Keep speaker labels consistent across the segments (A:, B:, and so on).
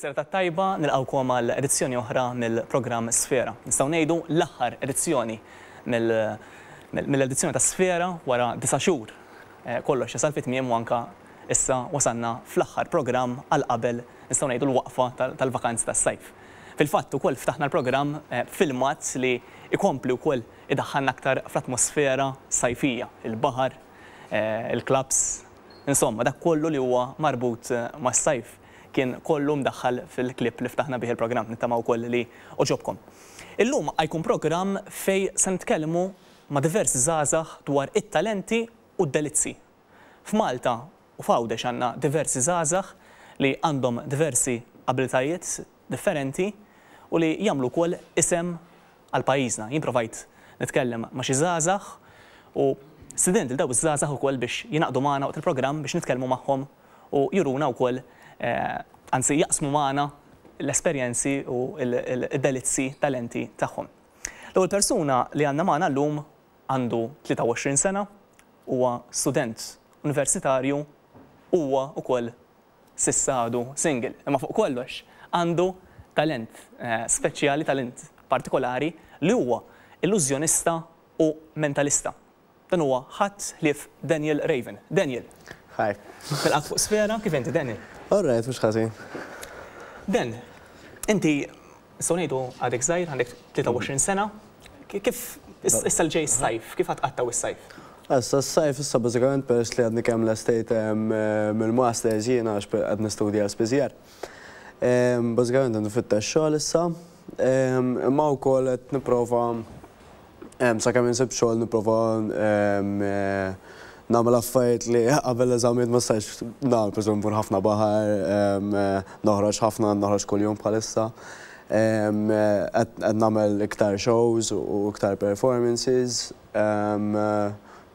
A: Is-serata t-tajba, nilqgħukom għal edizzjoni oħra mill-programm Sfera. Nistgħu ngħidu l-aħħar edizzjoni mill-edizzjoni ta' Sfera wara disa' xhur. Kollox jasal fi tmiem u anke issa wasalna fl-aħħar programm għal qabel nistgħu ngħidu l-waqfa tal-vakanzi tas-sajf. Fil-fatt ukoll ftaħna l-programm b'filmat li jkompli wkoll idaħħalna aktar fl-atmosfera sajfija, il-baħar, il-clubs, insomma dak kollu li huwa marbut mas-sajf. Kien kollu mdaħħal fil-clip li ftaħna bih il-programm. Nittama wkoll li għoġobkom. Illum ha jkun programm fejn se nitkellmu ma' diversi żgħażagħ dwar it-talenti u d-delizzi. F'Malta u f'Għawdex għandna diversi żgħażagħ li għandhom diversi abilitajiet differenti u li jagħmlu wkoll isem għal pajjiżna. Jien provajt nitkellem ma' xi żgħażagħ u stidint lil dawk iż-żgħażagħ ukoll biex jingħaqdu magħna waqt il-programm biex nitkellmu magħhom u juruna wkoll, anzi jaqsmu magħna l-esperjenzi u d-delizzi, talenti tagħhom. L-ewwel persuna li għandna magħna llum għandu 23 sena, huwa student universitarju u huwa wkoll s'issa għadu single. Imma fuq kollox għandu talent speċjali, talent partikolari li huwa illużjonista u mentalista. Dan huwa ħadd ħlief Daniel Raven. Daniel.
B: Hi.
A: Nilqgħek fuq Sfera, kif inti Daniel?
B: All right, mhux ħażin.
A: Dan, inti nistgħu ngħidu għadek żgħir, għandek 23 sena. Kif issa li ġej is-sajf, kif ħa tqattgħu s-sajf?
B: Issa s-sajf issa bażikament peress li għadni kemm lestejt mill-masters jiena għax qed nistudja spiżjar. Bażikament qed nfittex xogħol issa, imma wkoll qed nipprova Sakemm insib xogħol nipprova nagħmel affarijiet li qabel l-eżamijiet ma stajtx nagħmel, pereżempju mmur ħafna baħar, noħroġ ħafna, noħroġ kuljum bħalissa. Qed nagħmel iktar shows u iktar performances.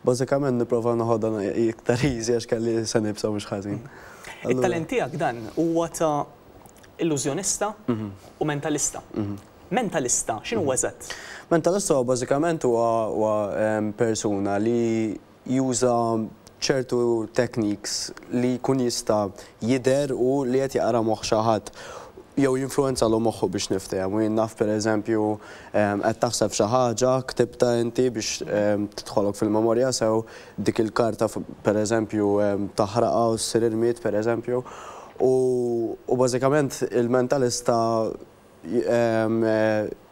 B: Bażikament nipprova noħodha iktar easy għax kelli sena iebsa mhux ħażin.
A: It-talent tiegħek dan huwa ta' illużjonista u mentalista. Mentalista, x'inhu eżatt?
B: Mentalista huwa bażikament huwa persuna li juża ċertu techniques li jkun jista' jidher hu li qed jaqra moħħ xi ħadd jew jinfluwenzalu moħħu biex niftehmu. U jien naf pereżempju qed taħseb f'xi ħaġa, ktibtha inti biex tidħolok fil-memorja sew, dik il-karta pereżempju taħraqha u ssir irmied pereżempju. U bażikament il-mentalista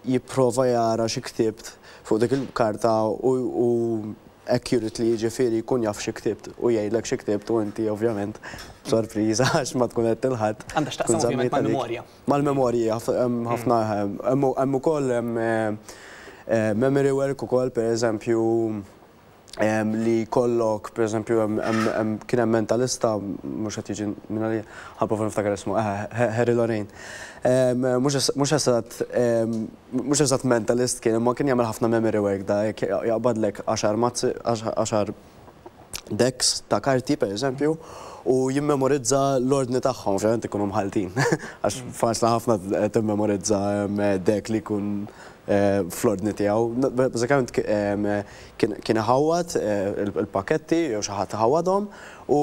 B: jipprova jara xi ktibt fuq dik il-karta u accurately jiġifieri jkun jaf xi ktibt u jgħidlek xi ktibt u inti ovvjament b'sorpriża għax ma tkun għedt lil ħadd.
A: Għandha x'taqsam ovvjament mal-memorja.
B: Mal-memorji ħafna hemm ukoll memory work ukoll pereżempju li jkollok, per eżempju, kien hemm mentalista, mhux qed jiġi minn għalija, ħa nipprova niftakar ismu, Harry Lorayne. Mhux eżatt mhux eżatt mentalist kien, imma kien jagħmel ħafna memory work da, jekk jaqbadlek għaxar mazzi, għaxar decks ta' karti, per eżempju, u jimmemorizza l-ordni tagħhom, ovvjament ikunu mħalltin, għax faċli ħafna timmemorizza deck li jkun fl-ordni tiegħu. Bażikament kien iħawwad il-pakketti jew xi ħadd iħawwadhom u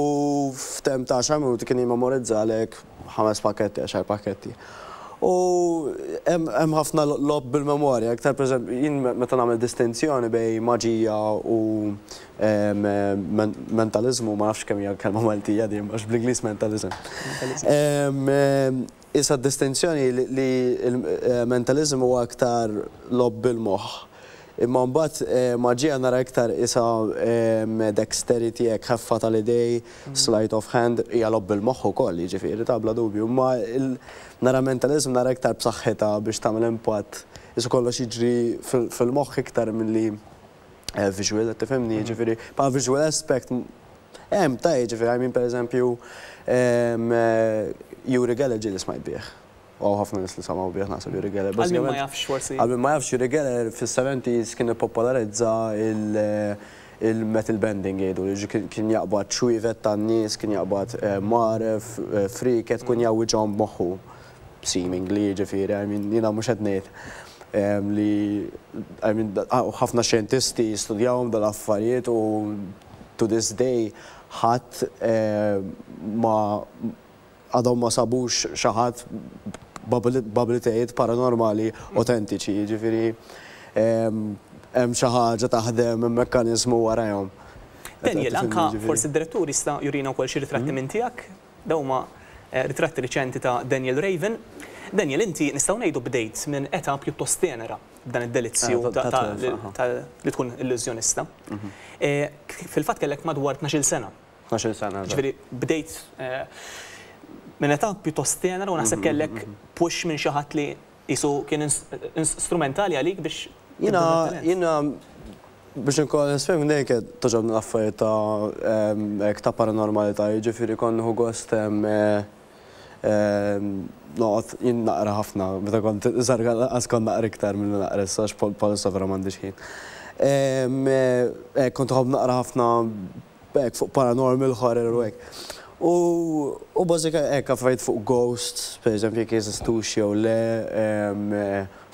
B: f'temp ta' għaxar minuti kien jimmemorizzalek ħames pakketti, għaxar pakketti. U hemm ħafna logħob bil-memorja, iktar pereżempju jien meta nagħmel distinzjoni bejn maġija u mentaliżmu, ma nafx kemm hija kelma Maltija din, għax bl-Ingliż mentalism. Issa d-distinzjoni hi li l-mentaliżmu huwa iktar logħob bil-moħħ. Imma mbagħad maġija nara iktar qisha dexterity hekk ħeffa tal-idej, sleight of hand, hija logħob bil-moħħ ukoll jiġifieri ta' bla dubju. Imma nara mentaliżm nara iktar b'saħħitha biex tagħmel impatt, qisu kollox jiġri fil-moħħ iktar milli visual, qed tifhimni? Jiġifieri bħala visual aspect hemm ta' jiġifieri I mean pereżempju Uri Geller ġieli smajt bih. U hawn ħafna nies li samgħu bih naħseb Uri Geller.
A: Għal min ma jafx forsi.
B: Għal min ma jafx Uri Geller fis-seventies kien ippopolarizza il-metal bending jgħidu li kien jaqbad ċwievet tan-nies, kien jaqbad mgħaref, frieket, kien jgħawwiġhom b'moħħu. Seemingly, jiġifieri, I mean, jiena mhux qed ngħid li, I mean, ħafna xjentisti jistudjawhom dal-affarijiet u to this day ħadd ma għadhom ma sabux xi ħadd b'abilitajiet paranormali autentiċi, jiġifieri hemm xi ħaġa taħdem, hemm mekkaniżmu warajhom.
A: Daniel, anka forsi d-direttur jista' jurina wkoll xi ritratti minn tiegħek. Dawn huma ritratti riċenti ta' Daniel Raven. Daniel, inti nistgħu ngħidu bdejt minn età pjuttost tenera b'dan id-delizzju ta' li tkun illużjonista. Fil-fatt kellek madwar 12-il sena.
B: 12-il sena, eżatt.
A: Ġifieri bdejt minn età pjuttost tenera u naħseb kellek push minn xi ħadd li qisu kien strumentali għalik biex
B: Jiena, jiena biex inkun onest miegħek minn dejjem kienet togħġobni l-affarijiet ta' hekk ta' paranormalità, jiġifieri kont nieħu gost noqgħod jien naqra ħafna, meta kont iżgħar lanqas kont naqra iktar milli naqra issa għax bħalissa vera m'għandix ħin. Hekk kont inħobb naqra ħafna hekk fuq paranormal horror u hekk. U u bażika hekk affarijiet fuq ghosts, pereżempju jekk jeżistux jew le,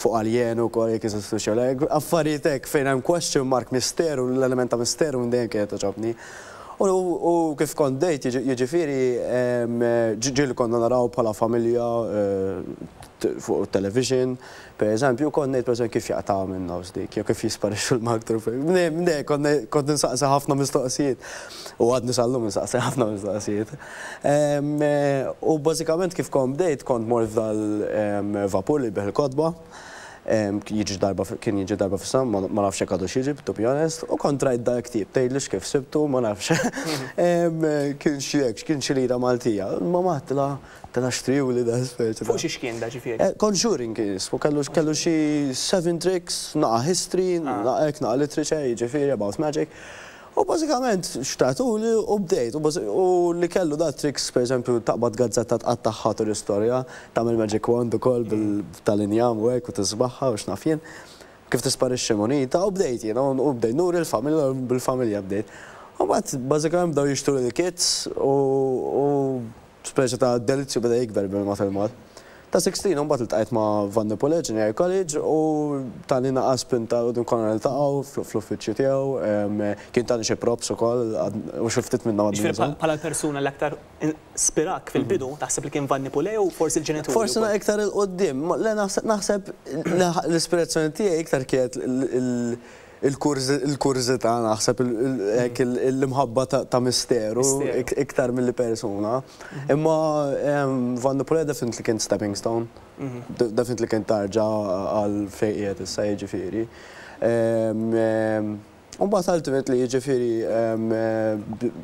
B: fuq aljen ukoll jekk jeżistux jew le, affarijiet hekk fejn hemm question mark, misteru, l-element ta' misteru minn dejjem kienet togħġobni. U u kif kont bdejt jiġifieri ġieli konna naraw bħala familja fuq it-television, Per eżempju, kont ngħid pereżempju kif jaqtgħuha minn nofs dik, jew kif jisparixxu l-maktur. Minn kont kont insaqsi ħafna mistoqsijiet. U għadni sal-lum insaqsi ħafna mistoqsijiet. U bażikament kif kont bdejt kont mort f'dal-vapur li jbigħ il-kotba. Jiġi darba kien jiġi darba fis-sena, ma nafx jekk għadux jiġi, to be honest, u kont rajt dal-ktieb, tgħidlix kif sibtu, ma nafx. Kien xi hekk, kien xi lira Maltija. Il-mamà għedtilha, Tela xtriuli da speċi.
A: Fuq xiex kien da ġifieri?
B: Conjuring kien jismu, kellu kellu xi seven tricks, naqa' history, naqa' hekk, naqa' literature, jiġifieri about magic. U bażikament xtratuli u bdejt. U li kellu da tricks, pereżempju, taqbad gazzetta tqattagħha tul istorja, tagħmel magic wand ukoll tal-injam u hekk u tisbaħha u x'naf jien. Kif tisparixxi munita u bdejt jiena u bdejt nuri l-familja u bil-familja bdejt. U mbagħad bażikament bdew jixtruli l-kits u Speċi ta' delizzju beda jikber bil-mod il-mod. Ta' 16 imbagħad iltqajt ma' Van de Poele Junior College u tani naqa' spinta 'l quddiem konna niltaqgħu fl-uffiċċju tiegħu, kien tani xi props ukoll u xi ftit minnhom għadni
A: Jiġifieri nużahom. Bħala l-persuna li aktar spirak fil-bidu taħseb li kien Van de Poele jew forsi l-ġenituri
B: wkoll? Forsi iktar 'il quddiem, le naħseb l-ispirazzjoni tiegħi iktar kienet Il-kurżità naħseb hekk l-imħabba ta' misteru iktar milli persuna. Imma Van de Poele definitely kien stepping stone. Definitely kien tarġa għal fejn qiegħed issa jiġifieri. U mbagħad ultimately jiġifieri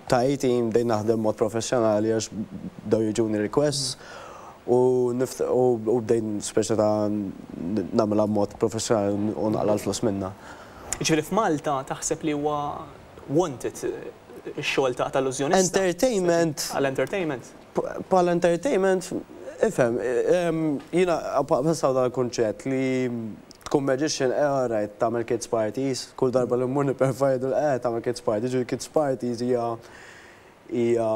B: ta' 18 bdejt naħdem mod professjonali għax bdew jiġuni requests U u bdejt speċi ta' nagħmilha b'mod professjonali u naqla' l-flus minnha.
A: Jiġifieri f'Malta taħseb li huwa wanted ix-xogħol ta' illużjonista?
B: Entertainment.
A: Għal entertainment?
B: Bħala entertainment, ifhem, jiena bħalissa hawn dan il-kunċett li tkun magician, eh all right, tagħmel kids parties, kull darba li mmur nipperform jgħiduli eh tagħmel kids parties, jiġifieri kids parties hija hija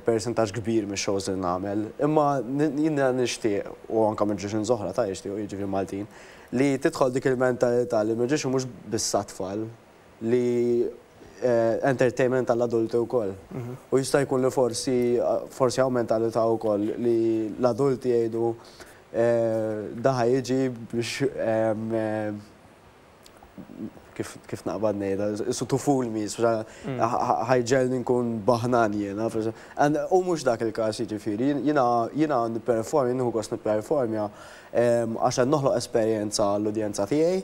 B: persentaġġ kbir mix-shows li nagħmel. Imma jiena nixtieq, u anke magicians oħra ta' jixtiequ, jiġifieri Maltin, li tidħol dik il-mentalità li magician mhux biss għat-tfal, li entertainment għall-adulti wkoll. U jista' jkun li forsi forsi hawn mentalità wkoll li l-adulti jgħidu da ħa jiġi biex kif kif naqbad ngħidha, isu to fool me, ħa jġegħelni nkun baħnan jiena. U mhux dak il-każ jiġifieri, jiena jiena nipperformja, nieħu gost nipperformja għax qed noħloq esperjenza għall-udjenza tiegħi.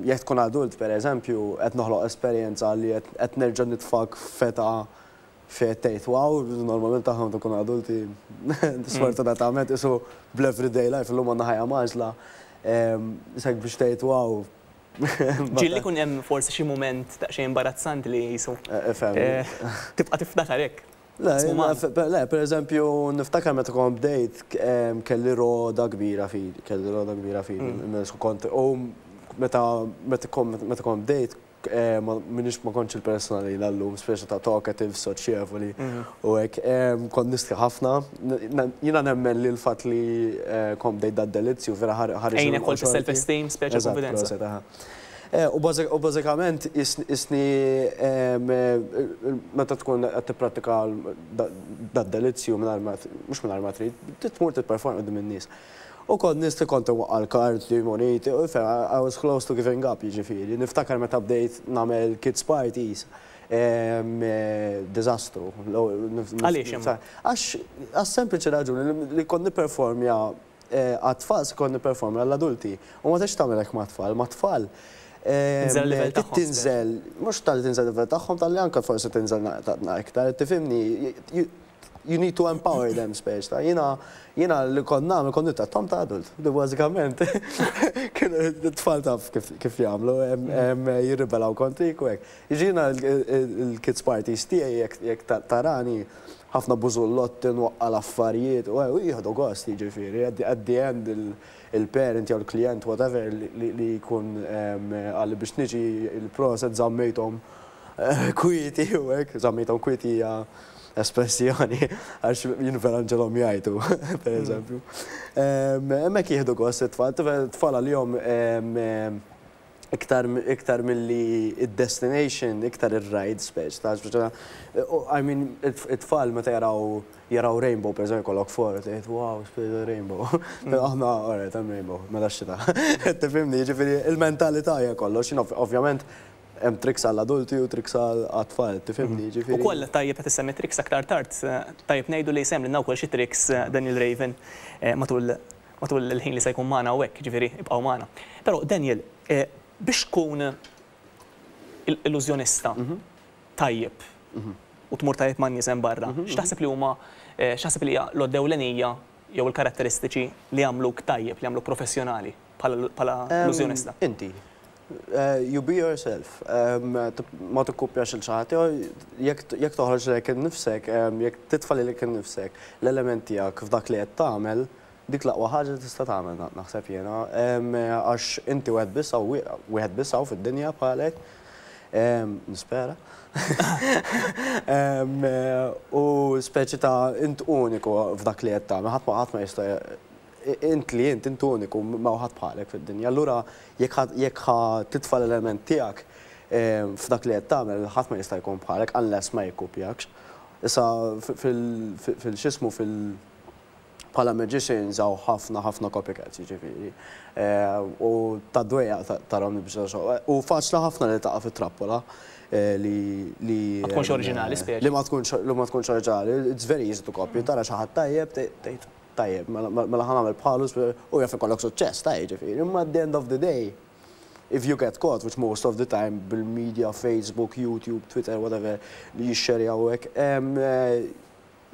B: Jekk tkun adult pereżempju, qed noħloq esperjenza li qed nerġa' nitfgħek f'età fejn qed tgħid wow, normalment aħna meta nkunu adulti sfortunatament qisu bl-everyday life illum għandna ħajja mgħaġġla, isek biex tgħid wow.
A: Ġieli jkun hemm forsi xi mument daqsxejn imbarazzanti li qisu tibqa' tiftakar hekk.
B: Le, le, pereżempju niftakar meta kont bdejt kelli roda kbira f'idi, kelli roda kbira f'idi, kont u meta meta kont bdejt Ma minix ma kontx il-persuna li jiena llum, speċi ta' talkative, soċjevoli u hekk. Kont nistħi ħafna. Jiena nemmen li l-fatt li kont bdejt dad-delizzju vera ħareġ.
A: Għinek ukoll fis-self esteem, speċi konfidenza.
B: Eżatt, proset, aha. U bażikament isni meta tkun qed tipprattika dad-delizzju mingħajr ma mhux mingħajr ma trid, tmur tipperform quddiem in-nies. U kont nies li kont inwaqqa' l-karti, muniti, u I was close to giving up, jiġifieri. Niftakar meta bdejt nagħmel kids parties, diżastru.
A: Għaliex imma?
B: Għax għas-sempliċi raġuni li kont nipperformja għat-tfal se kont nipperformja għall-adulti. U ma tistax tagħmel hekk mat-tfal. Mat-tfal
A: Tinżel il-livell tagħhom.
B: Tinżel, mhux talli tinżel il-livell tagħhom, talli anke forsi tinżel iktar, tifhimni? You need to empower them speċi ta' jiena jiena li kont nagħmel kont nittrattahom ta' adult. Li bażikament kienu t-tfal taf kif jagħmlu, jirribelaw kontrik u hekk. Jiġifieri jiena l-kids parties tiegħi jekk tarani ħafna bużullotti nwaqqa' l-affarijiet u jieħdu gost, jiġifieri at the end il-parent jew il-klijent, whatever, li jkun qalli biex niġi, il-proset żammejthom kwieti u hekk, żammejthom kwieti hija espressjoni għax jien vera nġegħelhom jgħajtu, pereżempju. Hemmhekk jieħdu gost it-tfal, it-tfal għalihom iktar iktar milli id-destination, iktar ir-ride speċi ta' speċi I mean, it-tfal meta jaraw rainbow, per eżempju, kollok for, tgħid, "Wow, speċi rainbow." Aħna, alright, hemm rainbow, mela x-xita. Tifhimni, jiġifieri il-mentalità hija kollox, jien ovvjament hemm tricks għall-adulti u tricks għat-tfal, tifhimni, jiġifieri.
A: Ukoll tajjeb qed issemmi tricks, aktar tard, tajjeb ngħidu li sem lilna wkoll xi tricks Daniel Raven matul il-ħin li se jkun magħna hawnhekk, jiġifieri ibqgħu magħna. Però Daniel, biex tkun illużjonista tajjeb u tmur tajjeb man-nies hemm barra, x'taħseb li hija l-għodda ewlenija jew il-karatteristiċi li jagħmluk tajjeb, li jagħmluk professjonali bħala illużjonista?
B: Inti. You be yourself. Ma tikkupjax lil xi ħadd, jekk toħroġ lilek innifsek, jekk titfa' lilek innifsek l-element tiegħek f'dak li qed tagħmel, dik l-aqwa ħaġa li tista' tagħmel, naħseb jiena. Għax inti wieħed biss hawn, wieħed biss hawn fid-dinja bħalek. Nispera. U speċi ta' int uniku f'dak li qed tagħmel, ħadd ma jista' int li int, int uniku, ma ħadd bħalek fid-dinja. Allura jekk ħa titfa' l-element tiegħek f'dak li qed tagħmel, ħadd ma jista' jkun bħalek unless ma jikkupjakx. Issa fil-xismu fil- bħala magicians hawn ħafna ħafna copycats, jiġifieri. U ta' dwejjaq tarahom nibża'. U faċli ħafna li taqa' fit-trappola li
A: Ma tkunx oriġinali speċi.
B: Li ma tkunx oriġinali. It's very easy to copy. Tara xi ħadd tajjeb, tgħid, "Tajjeb, mela ħa nagħmel bħalu," u jaf ikollok suċċess, tajjeb ġifieri. Imma at the end of the day, if you get caught, which most of the time bil-media, Facebook, YouTube, Twitter, whatever, li jixxerjaw hekk,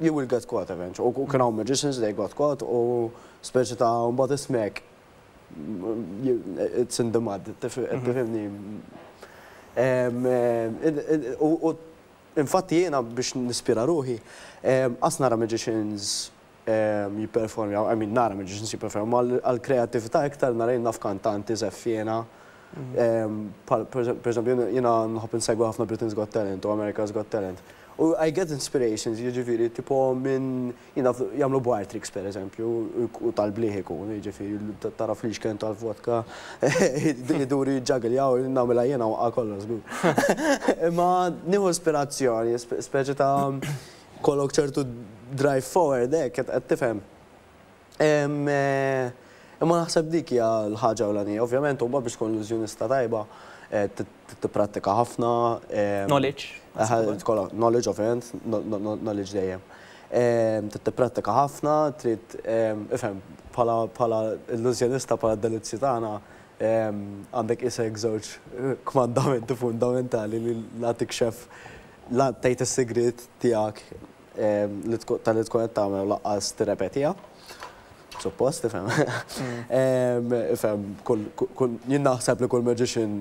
B: you will get caught eventually. U kien hawn magicians, they got caught, u speċi ta' mbagħad ismek it's in the mud, tifhimni. U infatti jiena biex nispira ruħi, qas nara magicians jipperformjaw, I mean, nara magicians jipperformjaw, għal-kreativita iktar nara naf kantanti, żeffiena. Per eżempju, jiena nħobb insegwi ħafna Britain's Got Talent u America's Got Talent. U I get inspirations, jiġifieri, tipo minn, jiena jagħmlu bar tricks, per eżempju, u tal-bliħ ikun, jiġifieri, tara flixken tal-vodka, iduri jġagiljaw, nagħmilha jiena waqqa kollox, żgur. Imma nieħu ispirazzjoni, speċi ta' kollok ċertu drive forward, hekk, qed tifhem. Imma naħseb dik hija l-ħaġa ewlenija. Ovvjament, huwa biex tkun illużjonista tajba, tipprattika ħafna.
A: Knowledge.
B: Tkollok knowledge, ovvjament, knowledge dejjem. Trid tipprattika ħafna, trid, ifhem, bħala illużjonista, bħala delizzju tagħna, għandek isek żewġ kmandamenti fundamentali li la tikxef, la tgħid is-sigriet tiegħek tal-li tkun qed tagħmel u lanqas tirrepetiha. Suppost, tifhem. Ifhem, kull jien naħseb li kull magician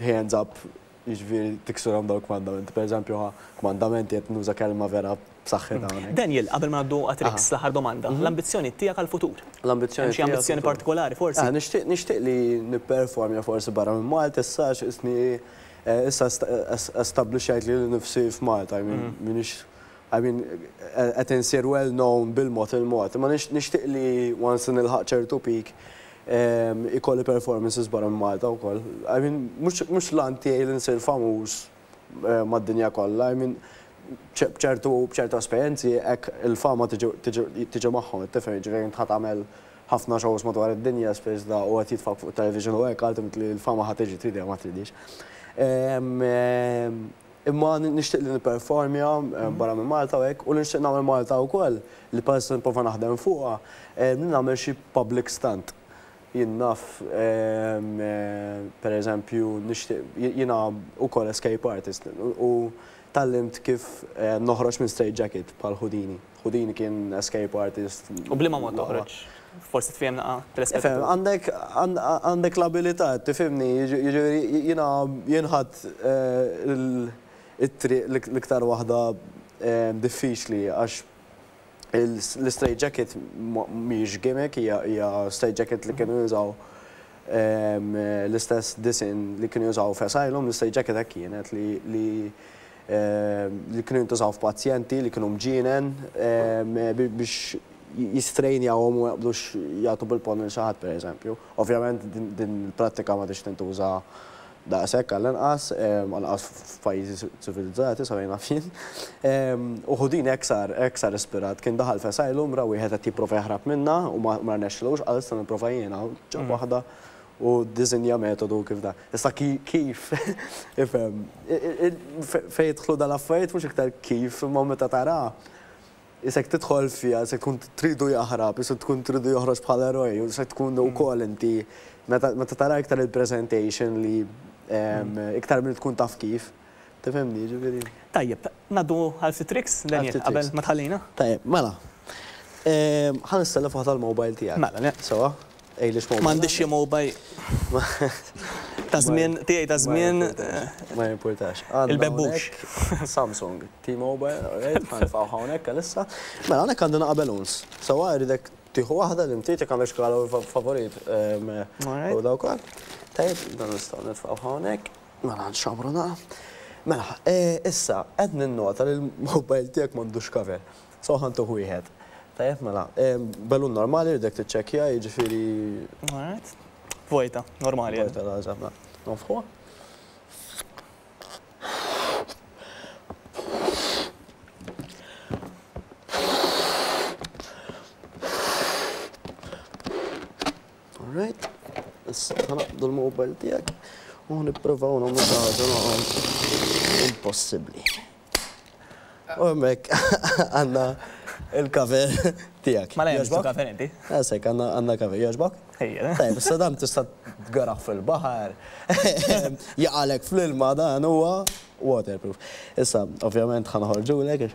B: hands up, jiġifieri tiksurhom dawk kmandamenti. Per eżempju, kmandamenti qed nuża kelma vera b'saħħitha hawnhekk.
A: Daniel, qabel ma ngħaddu għat-tricks, l-aħħar domanda, l-ambizzjoni tiegħek għall-futur?
B: L-ambizzjoni
A: Hemm xi
B: tiegħi
A: ambizzjoni
B: għall-futur.
A: partikolari forsi?
B: Ah, nixtieq li nipperformja forsi barra minn Malta issa għax isni issa establishajt lili nnifsi f'Malta, I mean, minix, I mean, qed insir well known bil-mod il-mod. Ma nixtieq li once nilħaq ċertu peak. Ikolli performances barra minn Malta wkoll. I mean, mhux l-għan tiegħi li nsir famuż mad-dinja kollha, I mean, b'ċertu b'ċertu esperjenzi hekk il-fama tiġi magħhom, tifhem, jiġifieri int ħa tagħmel ħafna shows madwar id-dinja spiss da u qed jitfgħuk fuq it-television u hekk, ultimately l-fama ħa tiġi trid jew ma tridhiex. Imma nixtieq li nipperformja barra minn Malta u hekk, u li nixtieq nagħmel Malta wkoll, li bħalissa nipprova naħdem fuqha, li nagħmel xi public stunt. Jien naf, per eżempju, nixtieq, jiena wkoll escape artist u tgħallimt kif noħroġ minn straight jacket bħal Houdini. Houdini kien escape artist.
A: U b'liema mod toħroġ? Forsi tfiehem naqa' telespettatur.
B: Għandek għandek l-abilità, tifhimni, jiġifieri jiena jien ħadt it-triq l-iktar waħda diffiċli għax l-istraight jacket mhijiex gimmick, hija straight jacket li kienu jużaw l-istess disinn li kienu jużaw f'asylum, l-istraight jacket hekk kienet li li kienu jintużaw f'pazjenti li kienu mġienen biex jistrejnjawhom u ma jaqbdux jagħtu bil-ponn lil xi ħadd pereżempju. Ovvjament din il-prattika m'għadhiex tintuża daqshekk għall-inqas, anqas f'pajjiżi ċivilizzati sa fejn naf jien. U Houdini hekk sar, hekk sar ispirat. Kien daħal f'asylum, ra wieħed qed jipprova jaħrab minnha u ma rnexxilux, qal issa nipprova jiena, ġab waħda u ddisinja metodu kif dan. Issa kif, ifhem, fejn jidħlu dal-affarijiet mhux iktar kif, imma meta tara, isek tidħol fiha, isek tkun tridu jaħrab, isek tkun tridu joħroġ bħala eroj, isek tkun ukoll inti, meta tara iktar il-presentation li iktar milli tkun taf kif. Tifhimni, jiġifieri.
A: Tajjeb, ngħaddu għal ftit tricks, Daniel, qabel ma tħallina?
B: Tajjeb, mela. Ħa nistellef waħda l-mobile tiegħek.
A: Mela, le.
B: Sewwa? Għidli x'mobile.
A: M'għandix xi mobile. Ta' żmien, tiegħi ta' żmien.
B: Ma jimpurtax.
A: Il-bebbux.
B: Samsung, T-Mobile, alright, ħa nitfgħu hawnhekk għalissa. Mela, hawnhekk għandna naqa' balloons. Sewwa, irridek tieħu waħda li inti jekk għandek xi kalur favorit. U dawk ukoll. Tajjeb, dan nistgħu nitfgħu hawnhekk. Mela nxammru naqa. Mela, issa, qed ninnota li l-mobile tiegħek m'għandux cover. So ħa ntuh wieħed. Tajjeb mela, balloon normali rridek tiċċekkja, jiġifieri.
A: Alright. Vojta, normali.
B: Vojta, la, eżatt, mela. Nonfħuha. Alright. Issa ħanaqbdu l-mobile tiegħek u nipprovaw nagħmlu xi ħaġa impossibbli. U hemmhekk għandna il-cover tiegħek.
A: Mela hemm cover inti.
B: Għasek għandna cover. Jogħġbok?
A: Ejja.
B: Tajjeb, issa dan tista' tgaraħ fil-baħar. Jaqalek fl-ilma dan huwa waterproof. Issa, ovvjament ħa noħorġulek.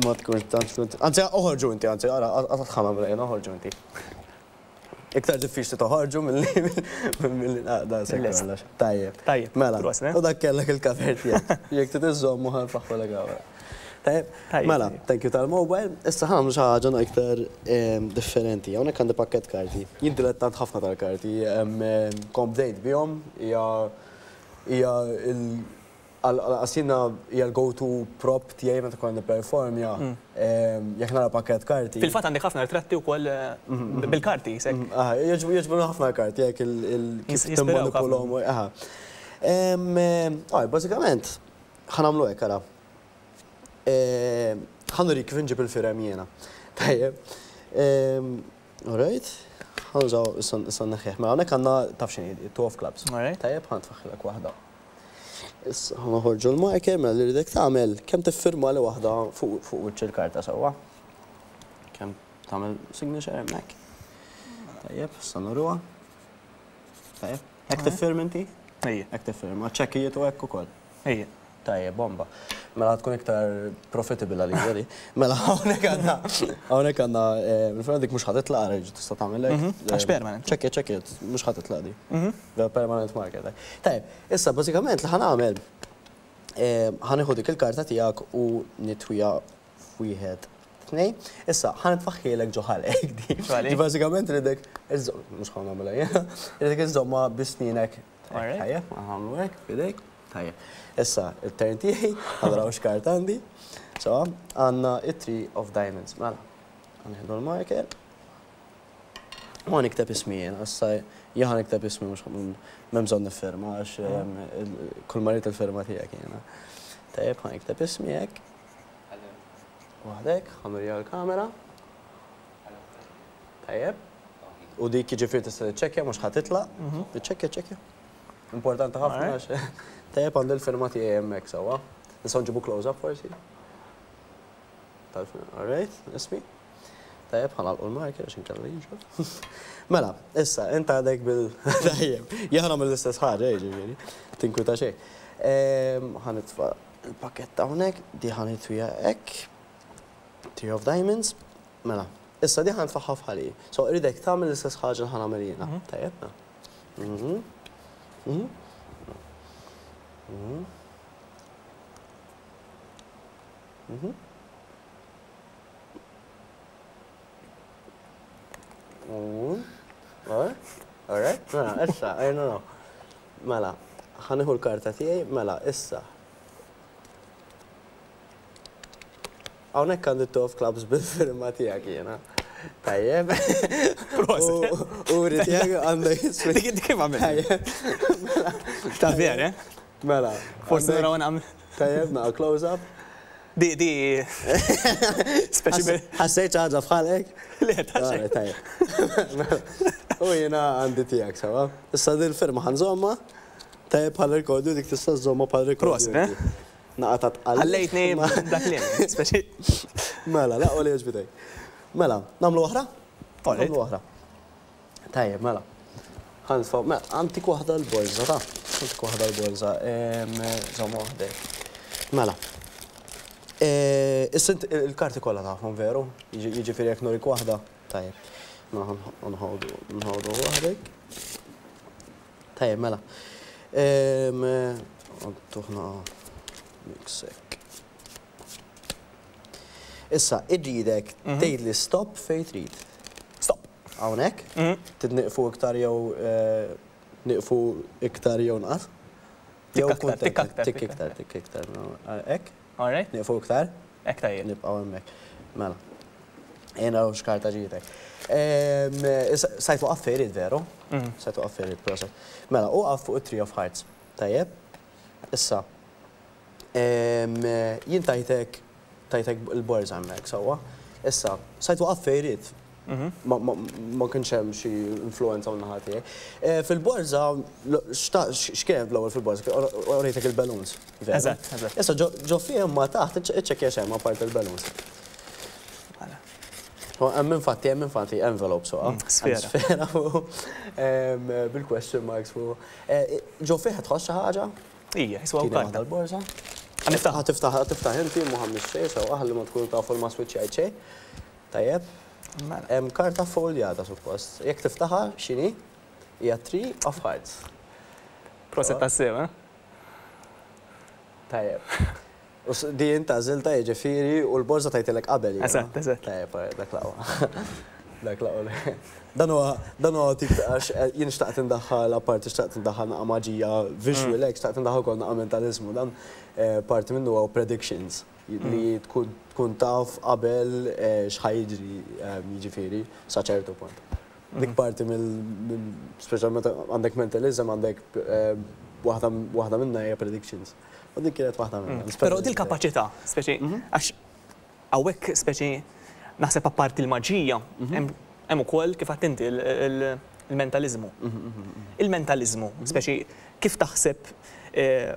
B: Ma tkunx tantx tkun. Anzi, oħorġu inti, anzi, ara, qatt ħa nagħmel oħorġu inti. Iktar diffiċli toħorġu milli milli naqda se kollox. Tajjeb.
A: Tajjeb.
B: Mela. U dak kellek il-cover tiegħek. Jekk trid iżżommu ħa nfaħħulek hawn. Tajjeb. Mela, thank you tal-mobile. Issa ħa nagħmlu xi ħaġa iktar differenti. Hawnhekk għandi pakkett karti. Jien dilettant ħafna tal-karti. Kont bdejt bihom, hija hija Għal jiena hija l-go to prop tiegħi meta nkun nipperformja. Jekk nara pakkett karti.
A: Fil-fatt għandek ħafna ritratti wkoll bil-karti isek.
B: Aha, jogħġbuni ħafna l-karti hekk kif timmanipulhom. Aha. Bażikament ħa nagħmlu hekk ara. Ħa nurik kif inġib il-firem jiena. Tajjeb. All right. Ħa nużaw issa nneħħih. Mela hawnhekk għandna taf x'inhi, two of clubs. Tajjeb, ħa nitfaħħilek waħda. Issa ħa noħorġu l-marker mela li rridek tagħmel kemm tiffirmali waħda fuq fuq wiċċ il-karta sewwa. Kemm tagħmel signature hemmhekk. Tajjeb, issa nuruha. Tajjeb. Hekk tiffirma inti?
A: Ejja.
B: Hekk tiffirma, ċekkijiet u hekk ukoll.
A: Ejja.
B: Tajjeb, bomba. Mela tkun iktar profitable għalija di. Mela hawnhekk għandna hawnhekk għandna il-firma dik mhux ħa titlaq ara tista' tagħmel hekk.
A: Għax permanent.
B: Ċekkiet, ċekkiet, mhux ħa titlaq di. Permanent marker. Tajjeb, issa bażikament li ħa nagħmel ħa nieħu dik il-karta tiegħek u nitwiha f'wieħed tnejn. Issa ħa nitfaħħielek ġo ħalqek di. Bażikament ridek mhux ħa nagħmilha jiena, ridek iżżommha bi snienek. Tajjeb, ħa nagħmlu hekk f'idejk. Tajjeb. Issa it-turn tiegħi, ħa naraw x'karta għandi. So, għandna it-Three of Diamonds. Mela, ħa nieħdu l-marker. U ħa nikteb ismi jiena, issa jien ħa nikteb ismi mhux m'hemm bżonn niffirma għax kull ma rrid il-firma tiegħek jiena. Tajjeb ħa nikteb ismi hekk. Waħdek, ħa nurija l-kamera. Tajjeb. U dik jiġifieri tista' tiċċekkja mhux ħa titlaq. Iċċekkja, iċċekkja. Importanti ħafna għax tajjeb għandi l-firma tiegħi hemmhekk sewwa. Nistgħu nġibu close up forsi? All right, ismi. Tajjeb, ħa nagħlqu l-marker għax inkella jinxef. Mela, issa, int għadek bil. Tajjeb, jien ħa nagħmel l-istess ħaġa, jiġifieri, tinkwita xejn. Ħa nitfa' l-pakkett hawnhekk, di ħa nitwiha hekk. Tree of Diamonds. Mela, issa di ħa nitfagħha f'ħalqi. So, irridek tagħmel l-istess ħaġa li ħa nagħmel jiena. Tajjeb, mela. Mhm. Mhm. Mhm. Mhm. Alright, mela, issa, I don't know. Mela, ħa nieħu l-karta tiegħi, mela, issa. Hawnhekk għandi two of clubs bil-firma tiegħek jiena. Tajjeb.
A: Proset.
B: U ri tiegħek għandek.
A: Dik kif għamilt?
B: Tajjeb. Mela.
A: Ta' vera, eh?
B: Mela.
A: Forsi naraw nagħmel.
B: Tajjeb, naqa' close up.
A: Di, di. Speċi bil.
B: Ħassejt xi ħaġa f'ħalqek?
A: Le, ta' xejn.
B: Tajjeb. Mela. U jiena għandi tiegħek sewwa. Issa din il-firma ħa nżommha. Tajjeb bħala rikordju dik tista' żżommha bħala rikordju.
A: Prosit, eh?
B: Naqa' ta' tqal.
A: Ħallejtni bla kliem, speċi.
B: Mela, l-aqwa li għoġbitek. Mela, nagħmlu oħra?
A: Nagħmlu
B: oħra. Tajjeb, mela. Ħa nitfgħu, mela, għantik waħda l-borża, ta' għantik waħda l-borża, żomm waħdek. Mela. Issa int il-karti kollha tafhom veru? Jiġifieri jekk nurik waħda, tajjeb. Mela nħawdu nħawdu waħdek. Tajjeb, mela. Tuħna mix hekk. Issa, irridek tgħidli stop fejn trid.
A: Stop.
B: Hawnhekk? Trid nieqfu iktar jew nieqfu iktar jew nqas?
A: Tikk aktar, tikk aktar.
B: Tikk iktar, tikk iktar. Hekk?
A: All right.
B: Nieqfu iktar?
A: Hekk tajjeb.
B: Nibqgħu hemmhekk. Mela. Ejja naraw x'karta ġietek. Sajt waqaf fejn irid veru? Sajt waqaf fejn irid, proset. Mela, u waqaf fuq it-Tree of Hearts. Tajjeb? Issa, Jien tajtek tajtek il-borża hemmhekk sewwa. Issa, sajt waqaf fejn ried. Ma kienx hemm xi influenza min naħa tiegħi. Fil-borża, x'kien hemm l-ewwel fil-borża? Urejtek il-balloons.
A: Eżatt, eżatt.
B: Issa ġo fihom ma taħt iċċekkja x'hemm apparti il-balloons. Hemm infatti hemm infatti envelope sewwa.
A: Sfera.
B: Sfera fuq bil-question marks fuq. Ġo fih tħoss xi ħaġa?
A: Ija, jiswa
B: Tieni waħda l-borża.
A: Ħa niftaħ.
B: Ħa tiftaħ, ħa tiftaħ inti, mhu ħa mmiss xejn, sewwa, ħalli ma tkunu tafu li ma swiċċjajt xejn. Tajjeb.
A: Mela.
B: Hemm karta ffoljata suppost. Jekk tiftaħha, x'inhi? Hija Tree of Hearts.
A: Proset tassew, eh?
B: Tajjeb. U di int għażiltha jiġifieri u l-borża tajtilek qabel jiena.
A: Eżatt, eżatt.
B: Tajjeb, alright, dak l-aqwa. Dak l-aqwa li. Dan huwa dan huwa tip ta' għax jien xtaqt indaħħal apparti xtaqt indaħħal naqa' maġija visual hekk, xtaqt indaħħal ukoll naqa' mentaliżmu. Dan parti minnu huwa predictions li tkun tkun taf qabel x'ħa jiġri jiġifieri sa ċertu punt. Dik parti mill speċjalment għandek mentalism għandek waħda waħda minnha hija predictions. U dik kienet waħda minnhom.
A: Però dil-kapaċità, speċi, għax hawnhekk speċi naħseb apparti l-maġija, hemm ukoll kif għedt inti il-mentaliżmu. Il-mentaliżmu, speċi kif taħseb,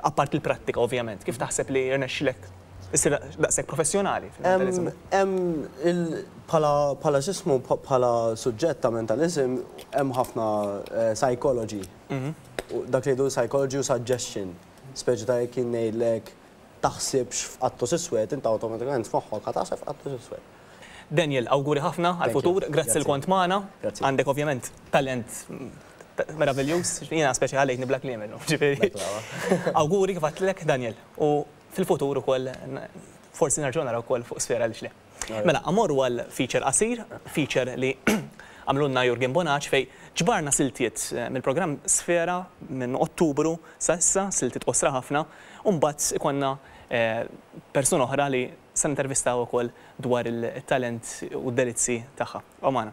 A: apparti l-prattika ovvjament, kif taħseb li rnexxilek issir daqshekk professjonali fil-mentaliżmu?
B: Hemm il bħala bħala x'ismu bħala suġġett ta' mentaliżm hemm ħafna psychology. Dak li jgħidu psychology u suggestion. Speċi ta' jekk jien ngħidlek taħsibx f'qattus iswed, int awtomatikament f'moħħok ħa taħseb f'qattus iswed.
A: Daniel, awguri ħafna għall-futur, grazzi li kont magħna. Għandek ovvjament talent meraviljuż, jiena speċi ħallejtni bla kliem illum, ġifieri. Awguri kif għedtlek Daniel, u fil-futur ukoll forsi nerġgħu narawk ukoll fuq Sfera għaliex le. Mela, mmorru għal feature qasir, feature li għamlulna Jurgen Bonac fejn ġbarna siltiet mill-programm Sfera minn Ottubru sa issa, siltiet qosra ħafna, u mbagħad ikollna persuna oħra li se nintervistaw ukoll dwar it-talent u d-delizzi tagħha. Ibqgħu magħna.